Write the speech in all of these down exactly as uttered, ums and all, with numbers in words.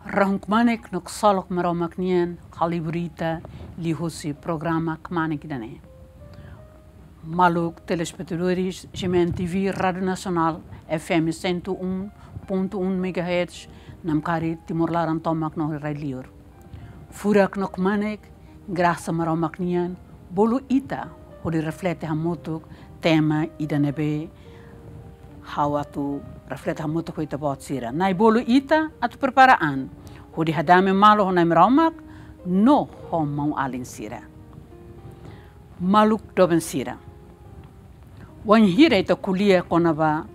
Rahun kmanek no ksolok Maromak nian halibur ita liuhusi programa kmanek ida-ne'e. Maluk telespetadores G M N T V Rádiu Nasionál F M cento um ponto um megahertz, namkari Timor laran tomak no rai-liur. Furak no kmanek, grasa Maromak nian bolu ita hodi reflete hamutuk tema ida ne'ebé ha'u atu reflete hamutuk ho ita-boot sira. Nai bolu ita atu prepara an hodi hadame malu ho Nai Maromak no ho maun-alin sira. Maluk doben sira, wainhira ita ko'alia kona-ba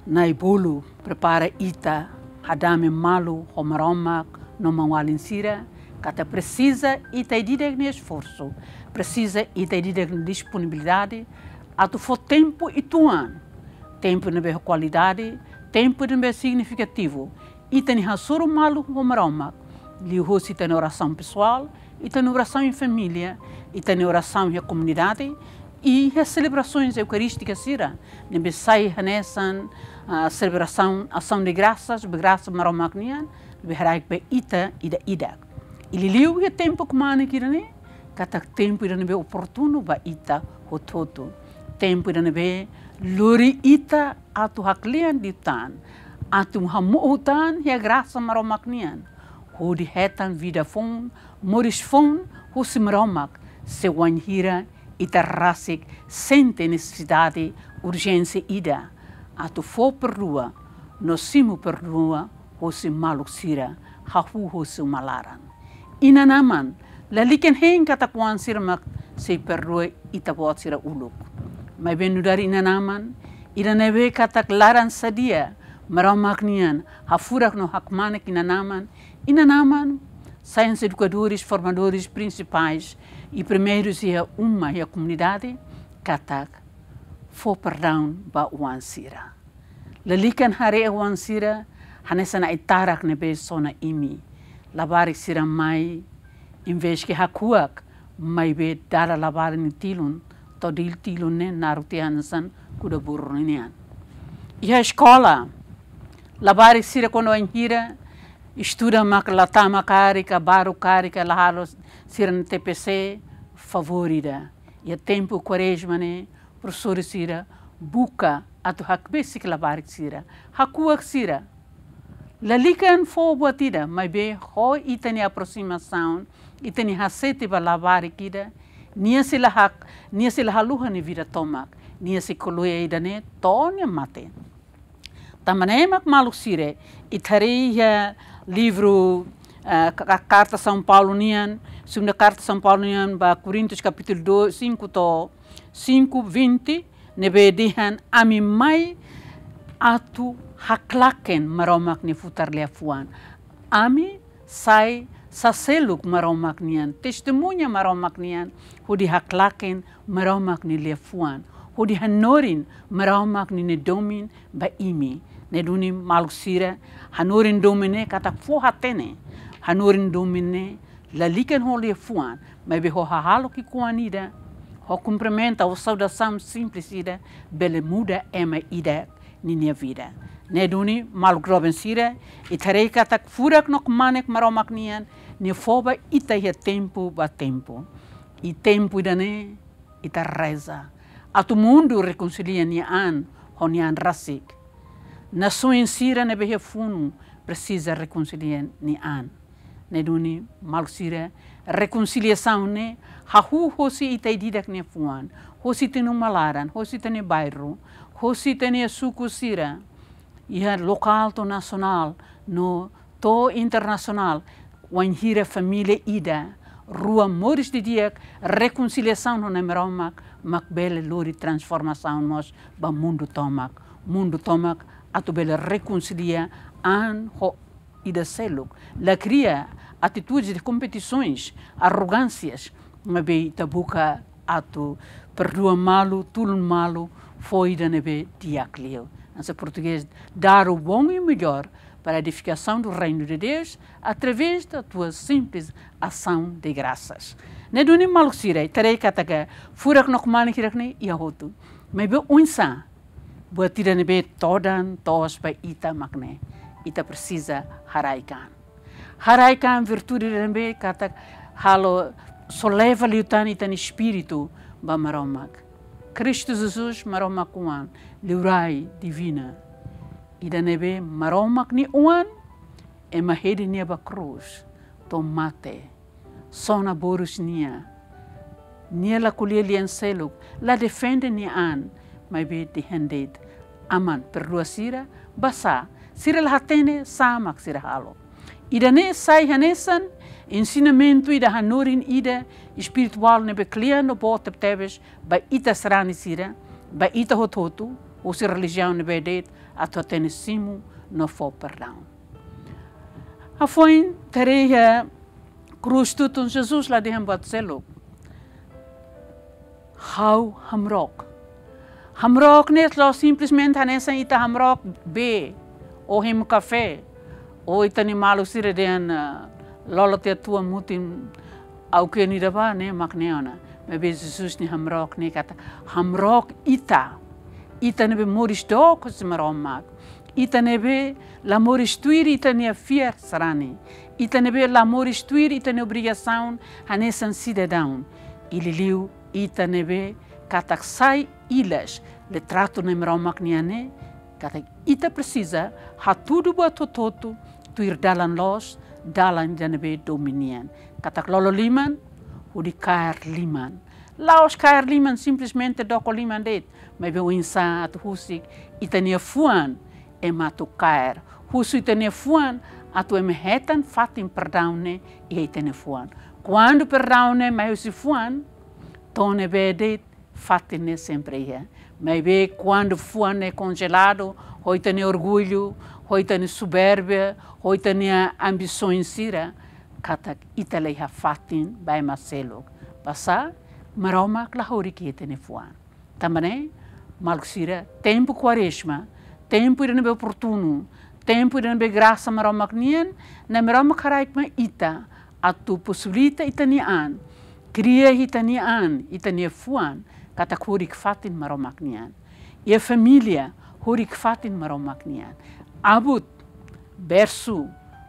nai bolu prepara ita hadame malu ho Maromak no maun-alin sira, katak presiza ita ida-idak nia esforsu, presiza ita ida-idak nia disponibilidade atu fó tempu uitoan, tempu ne'ebé ho kualidade, tempu ne'ebé signifikativu, ita-nia hasoru malu ho Maromak liuhusi ita-nia orasaun pesoál, ita-nia orasaun iha família, ita-nia orasaun iha komunidade, i iha selebrasoens eukarístikas sira ne'ebé sai hanesan, ah, selebrasaun Asaun de Grasas, ba grasa Maromak nian ne'ebé haraik ba ita ida-idak. I liuliu iha tempu kmanek ida-ne'e, katak tempu ida ne'ebé oportunu ba ita hotu-hotu. Tempu ida ne'ebé lori ita atu haklean liután, atu hamo'u tan iha grasa Maromak nian, hodi hetan vida foun, moris foun husi Maromak, se wainhira ita rasik sente nesesidade, urjénsia ida atu fó perdua no simu perdua husi maluk sira, hahú husi uma laran. Inan-aman, lalika hein katak oan sira mak sei perdua ita-boot sira uluk. Maibé nu'udar inan-aman ida ne'ebé katak laran sadia Maromak nian, hafurak no hakmanek inan-aman, inan-aman sai hanesan edukadores, formadores prinsipais i primeirus iha uma, iha komunidade, katak fó perdaun ba oan sira. Lalika haree oan sira hanesan ai-tarak ne'ebé sona imi. Labarik sira mai, envezke hakuak, maibé dala labarik nia tilun, to'o tilun ne'e naruk tiha hanesan kuda-burru nian. Iha eskola, labarik sira kuandu wainhira estuda mak la tama karik ka baruk karik ka la halo sira-nia T P C, favór ida. Iha tempu Kuarezma ne'e, profesór sira buka atu hakbesik labarik sira, hakuak sira. Lalika fó buat ida, maibé ho ita-nia aprosimasaun, ita-nia hasete ba labarik ida, nia sei la hak, nia sei la haluha nia vida tomak, nia sei ko'alia ida-ne'e to'o nia mate. Tanba ne'e mak maluk sira, ita haree iha livru, eh, ka-, ka-, karta São Paulo nian, segunda karta São Paulo nian ba Korintus kapítulu dois, cinco to'o cinco, vinte, ne'ebé dehan: Ami mai atu haklaken Maromak nia futar liafuan. Ami sai saseluk Maromak nian, testemuña Maromak nian, hodi haklaken Maromak nia liafuan, hodi hanorin Maromak nia domin ba imi. Ne'e duni maluk sira, hanorin domin ne'e katak fó hatene, hanorin domin ne'e lalika ho liafuan, maibé ho hahalok ki'ikoan ida, ho kumprimenta ou saudasaun simples ida, bele muda ema ida ninia vida. Ne'e duni maluk doben sira, ita haree katak furak no kmanek Maromak nian, nia fó ba ita iha tempu ba tempu. I tempu ida-ne'e ita reza atu mundu rekonsilia nia an ho nia an rasik. Nasaun sira ne'ebé iha funu presiza rekonsilia nia an. Ne'e duni maluk sira, rekonsiliasaun ne'e hahú hosi ita ida-idak nia fuan, hosi ita-nia uma laran, hosi ita-nia bairru, hosi ita-nia suku sira, iha lokál to'o nasionál no to'o internasionál. Wainhira família ida, rua moris didi'ak, rekonsiliasaun ho Nai Maromak mak bele lori transformasaun mós ba mundu tomak. Mundu tomak atu bele rekonsilia an ho ida seluk. La kria atitudes de kompetisoens, arrogánsias, maibé ita buka atu perdua malu, tulun malu, fó ida ne'ebé di'ak liu. Hanesan portugés, dar o bom e o melhor para a edificação do reino de Deus, através da tua simples ação de graças. Ne'e duni maluk sira, ita haree katak furak no kmanek hirak-ne'e iha hotu. Maibé oinsá buat ida ne'ebé todan toos ba ita mak ne'e. ita presiza haraik an. Haraik an virtude ida ne'ebé katak halo soleva liután ita-nia espíritu ba Maromak. Kristu Jesus Maromak Oan, Liurai Divina. Ida ne'ebé Maromak nia Oan, ema hedi nia ba krús, to'o mate, sona borus nia. Nia la ko'alia lian seluk, la defende nia an, maibé dehan de'it: Aman, perdua sira, basá sira la hatene sá mak sira halo. Ida-ne'e sai hanesan ensinamentu ida hanorin ida espirituál ne'ebé kle'an no boot tebetebes ba ita sarani sira, ba ita hotu-hotu, husi relijiaun ne'ebé de'it, atu hatene simu no fó perdaun. Hafoin, ita haree iha krús tutun, Jesus la dehan buat seluk: Ha'u hamrook. Hamrook ne'e la'ós simplesmente hanesan ita hamrook bee, ou hemu kafé, ou ita-nia maluk sira dehan, ah, lolo tiha tua mutin auke nia ida ba ne'e mak ne'e ona. Maibé Jesus nia hamrook ne'e katak hamrook ita. Ita ne'ebé moris dook husi Maromak. Ita ne'ebé la moris tuir ita-nia fiar sarani. Ita ne'ebé la moris tuir ita-nia obrigasaun hanesan sidadaun. I liuliu ita ne'ebé katak sai ilas litratu Nai Maromak nian ne'e, katak ita presiza hatudu buat hotu-hotu tuir dalan loos, dalan ida ne'ebé domin nian. Katak lolo liman hodi kaer liman. La'ós kaer liman simplesmente doko liman de'it, maibé oinsá atu husik ita-nia fuan ema atu kaer. Husu ita-nia fuan atu ema hetan fatin perdaun ne'e iha ita-nia fuan. Kuandu perdaun ne'e mai husi fuan, to'o ne'ebé de'it fatin ne'e sempre iha. Maibé kuandu fuan ne'e konjeladu ho ita-nia orgullu, ho ita-nia supérbia, ho ita-nia ambisaun sira, katak ita la iha fatin ba ema seluk. Basá Maromak la haruka ita-nia fuan. Tanba ne'e, maluk sira, tempu Kuarezma, tempu ida ne'ebé oportunu, tempu ida ne'ebé grasa Maromak nian, Nai Maromak haraik mai ita atu posibilita ita-nia an, kria ita-nia an, ita-nia fuan, katak horik fatin Maromak nian. Iha família, horik fatin Maromak nian. Abut, bersu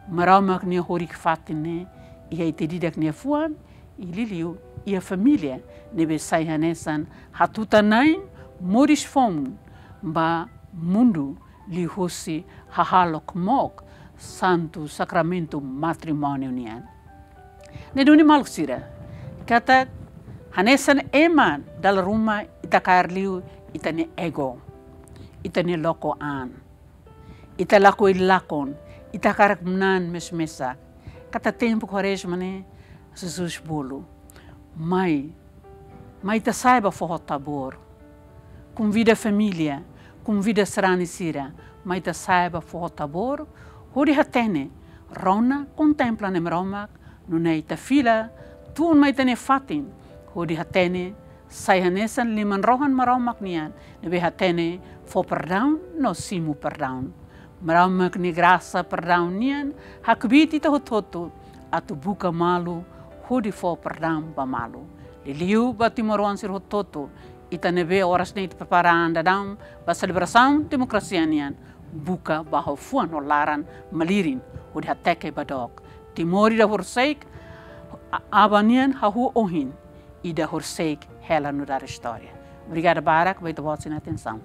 Maromak nia horik fatin ne'e iha ita ida-idak nia fuan, i liuliu iha família ne'ebé sai hanesan hatutan-na'in moris foun ba mundu liuhusi hahalok mook Santu Sakramentu Matrimóniu nian. Ne'e duni maluk sira, katak hanesan ema dala ruma ita kaer liu ita-nia ego, ita-nia loko an. Ita lakohi lakon, ita hakarak manán mesak-mesak. Katak tempu Kuarezma ne'e, Jesus bolu: Mai, mai ita sa'e ba foho Tabor. Konvida família, konvida sarani sira, mai ita sa'e ba foho Tabor, hodi hatene, rona, kontempla Nai Maromak, nune'e ita fila tun mai ita-nia fatin, hodi hatene, sai hanesan liman-rohan Maromak nian, ne'ebé hatene fó perdaun no simu perdaun. Maromak nia grasa perdaun nian hakbiit ita hotu-hotu atu buka malu, hodi fó perdaun ba malu. Liuliu ba timoroan sira hotu-hotu, ita ne'ebé oras ne'e ita prepara an daudaun ba selebrasaun demokrasia nian, buka ba ho fuan no laran malirin, hodi hateke ba dook. Timor ida horisehik a-, aban nian hahú ohin, ida horisehik hela nu'udar istória. Obrigada barak ba ita-boot sira-nia atensaun.